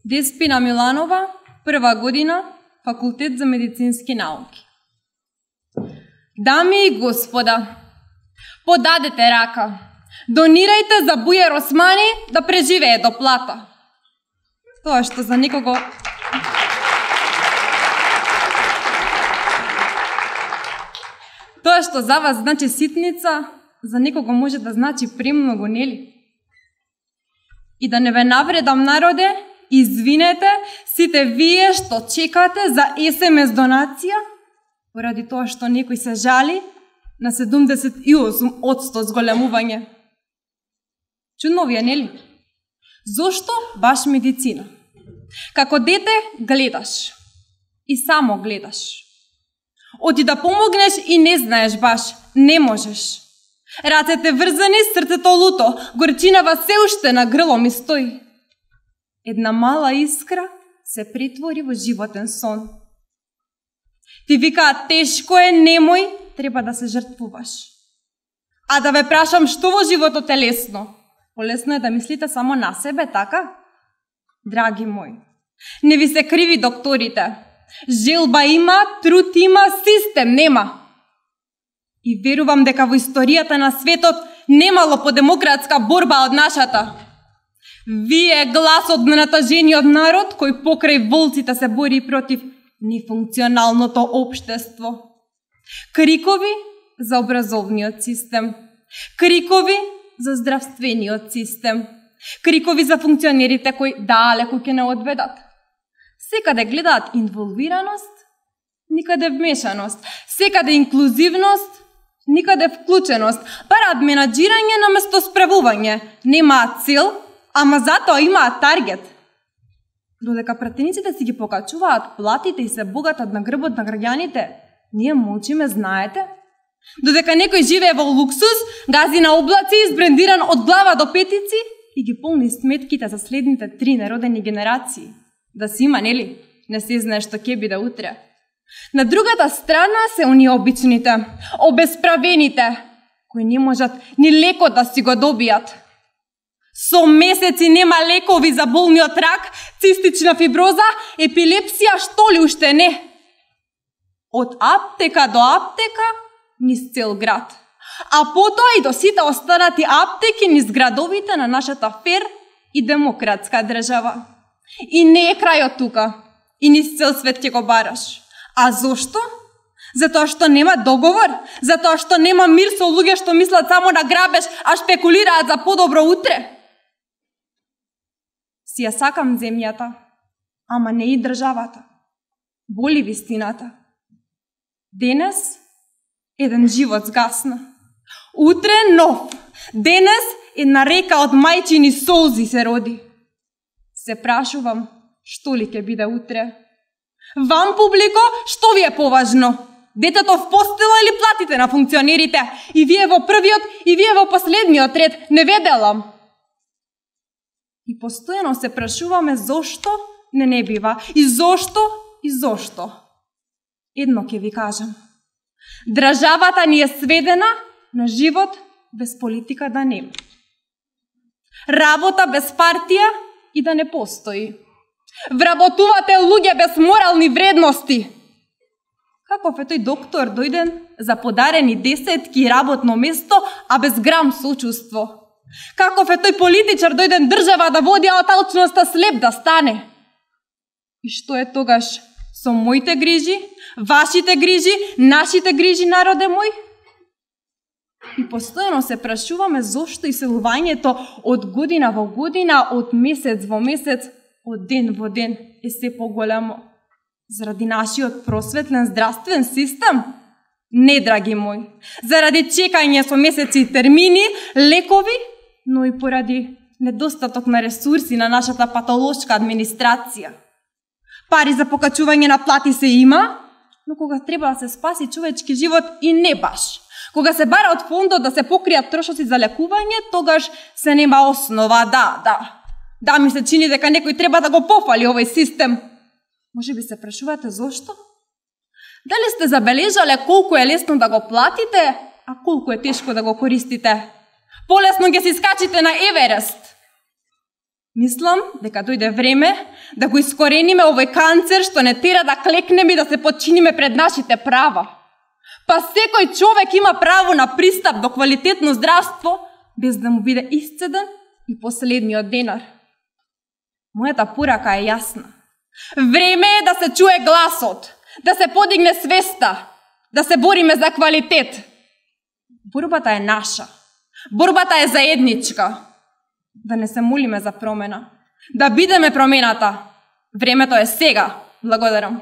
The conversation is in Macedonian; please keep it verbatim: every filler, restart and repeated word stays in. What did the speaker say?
Деспина Миланова, прва година, Факултет за медицински науки. Дами и господа, подадете рака. Донирајте за Бујер Османи да преживее до плата. Тоа што за никого... Тоа што за вас значи ситница, за никого може да значи премногу, нели? И да не ве навредам, народе, извинете сите вие што чекате за ес ем ес донација, поради тоа што некој се жали на седумдесет и осум одсто зголемување. Чудно ви е, нели? Зошто баш медицина? Како дете гледаш и само гледаш. Оти да помогнеш и не знаеш баш, не можеш. Рацете врзани, срцето луто, горчинава се уште на грло ми стои. Една мала искра се претвори во животен сон. Ти викаат тешко е, немој, треба да се жртвуваш. А да ве прашам што во животот е лесно? Полесно е да мислите само на себе, така? Драги мои, не ви се криви докторите. Желба има, труд има, систем нема. И верувам дека во историјата на светот немало подемократска борба од нашата. Вие гласот на натажениот народ кој покрај волците се бори против нефункционалното општество. Крикови за образовниот систем. Крикови за здравствениот систем. Крикови за функционерите кои далеку ќе не одведат. Секаде гледаат инволвираност, никаде вмешаност. Секаде инклузивност, никаде вклученост. Бараат менаџирање наместо справување. Немаат цел, ама затоа имаат таргет. Додека пратениците си ги покачуваат платите и се богатат на грбот на граѓаните, ние молчиме, знаете? Додека некој живее во луксус, гази на облаци, избрендиран од глава до петици и ги полни сметките за следните три неродени генерации. Да си има, нели? Не се знае што ќе биде утре. На другата страна се оние обичните, обесправените, кои не можат ни лекот да си го добијат. Со месеци нема лекови за болниот рак, цистична фиброза, епилепсија, што ли уште не. Од аптека до аптека, низ цел град. А потоа и до сите останати аптеки низ градовите на нашата фер и демократска држава. И не е крајот тука. И низ цел свет ќе го бараш. А зошто? Затоа што нема договор? Затоа што нема мир со луѓе што мислат само на грабеж, а шпекулираат за подобро утре? Си ја сакам земјата, ама не и државата. Боли вистината. Денес еден живот сгасна. Утре нов. Денес една река од мајчини солзи се роди. Се прашувам, што ли ќе биде утре? Вам, публико, што ви е поважно? Детето в постела или платите на функционерите? И вие во првиот, и вие во последниот ред, не ве делам. И постојано се прашуваме зошто не не бива. И зошто, и зошто. Едно ќе ви кажам. Државата ни е сведена на живот без политика да нема. Работа без партија и да не постои. Вработувате луѓе без морални вредности. Каков е тој доктор дојден за подарени десетки работно место, а без грам сочувство? Каков е тој политичар дојден држава да води, а од алчноста слеп да стане? И што е тогаш со моите грижи, вашите грижи, нашите грижи, народе мој? И постојано се прашуваме зошто иселувањето од година во година, од месец во месец, од ден во ден е се поголемо. Заради нашиот просветлен здравствен систем? Не, драги мои. Заради чекање со месеци и термини, лекови, но и поради недостаток на ресурси на нашата патолошка администрација. Пари за покачување на плати се има, но кога треба да се спаси човечки живот и не баш. Кога се бара од фондот да се покријат трошоци за лекување, тогаш се нема основа, да, да. Да, ми се чини дека некој треба да го пофали овој систем. Може би се прашувате зошто? Дали сте забележале колку е лесно да го платите, а колку е тешко да го користите? Полесно ќе си скачите на Еверест. Мислам дека дојде време да го искорениме овој канцер што не тера да клекнеме и да се подчиниме пред нашите права. Па секој човек има право на пристап до квалитетно здравство без да му биде исцеден и последниот денар. Мојата порака е јасна. Време е да се чуе гласот, да се подигне свеста, да се бориме за квалитет. Борбата е наша. Борбата е заедничка. Да не се молиме за промена. Да бидеме промената. Времето е сега. Благодарам.